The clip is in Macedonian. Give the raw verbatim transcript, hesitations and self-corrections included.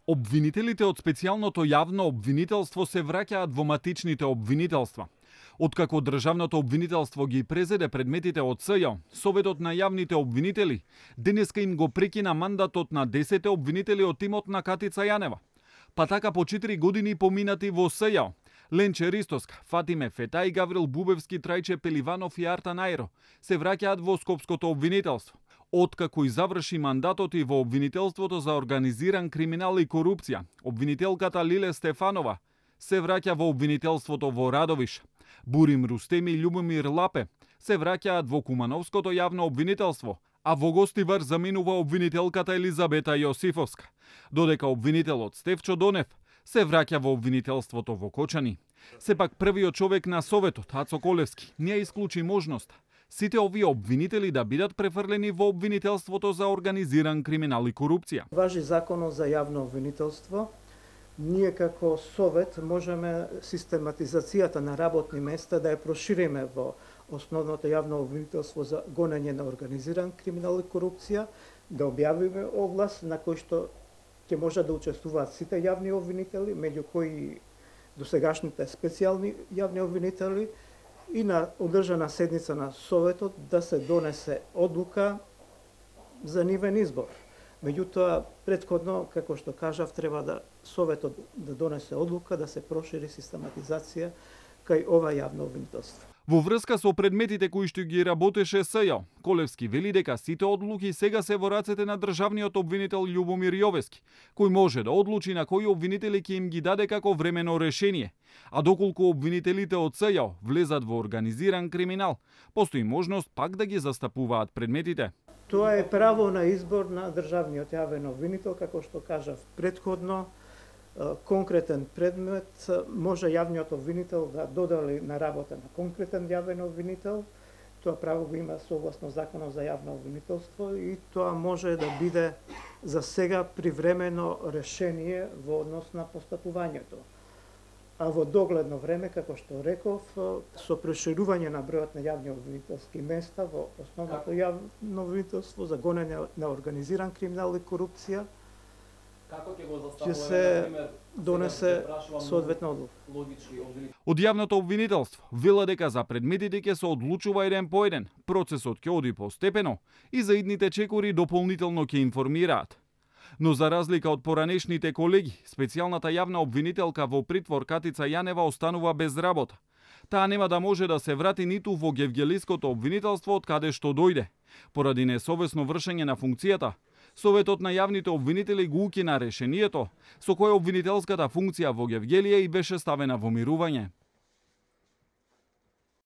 Обвинителите од специјалното јавно обвинителство се враќаат во матичните обвинителства. Откако државното обвинителство ги презеде предметите од СЈО, Советот на јавните обвинители денеска им го прекина мандатот на десет обвинители од тимот на Катица Јанева. Па така по четири години поминати во СЈО, Ленче Ристоска, Фатиме Фетај, Гаврил Бубевски, Трајче Пеливанов и Арта Најро се враќаат во Скопското обвинителство. Откако и заврши мандатот и во обвинителството за организиран криминал и корупција, обвинителката Лиле Стефанова се враќа во обвинителството во Радовиш. Бурим Рустеми и Љубомир Лапе се враќаат во Кумановското јавно обвинителство, а во Гостивар заминува обвинителката Елизабета Јосифовска, додека обвинителот Стефчо Донев се враќа во обвинителството во Кочани. Сепак првиот човек на Советот, Ацо Колевски, не исклучи можност сите овие обвинители да бидат префрлени во обвинителството за организиран криминал и корупција. Важи законот за јавно обвинителство. Ние како Совет можеме систематизацијата на работни места да ја прошириме во основното јавно обвинителство за гонење на организиран криминал и корупција, да објавиме оглас на кој што ќе може да учествуваат сите јавни обвинители, меѓу кои досегашните специјални јавни обвинители, и на одржана седница на Советот да се донесе одлука за нивен избор. Меѓутоа, претходно, како што кажав, треба да Советот да донесе одлука да се прошири систематизација кај ова јавно обвинителство. Во врска со предметите кои што ги работеше СЈО, Колевски вели дека сите одлуки сега се во рацете на државниот обвинител Љубомир Јовески, кој може да одлучи на кои обвинители ќе им ги даде како времено решение. А доколку обвинителите од СЈО влезат во организиран криминал, постои можност пак да ги застапуваат предметите. Тоа е право на избор на државниот јавен обвинител, како што кажав претходно. Конкретен предмет може јавниот обвинител да додели на работа на конкретен јавен обвинител. Тоа право го има согласно законот за јавно обвинителство и тоа може да биде за сега привремено решение во однос на постапувањето. А во догледно време, како што реков, со проширување на бројот на јавни обвинителски места во основното јавно обвинителство за гонење на организиран криминал и корупција, ќе се донесе соодветна одлука. Од јавното обвинителство вела дека за предметите ќе се одлучува еден по еден, процесот ќе оди постепено и за идните чекори дополнително ќе информираат. Но за разлика од поранешните колеги, специјалната јавна обвинителка во притвор Катица Јанева останува без работа. Таа нема да може да се врати ниту во Гевгелиското обвинителство од каде што дојде. Поради несовесно вршење на функцијата, Советот на јавните обвинители го укина решението со кое обвинителската функција во Гевгелија и беше ставена во мирување.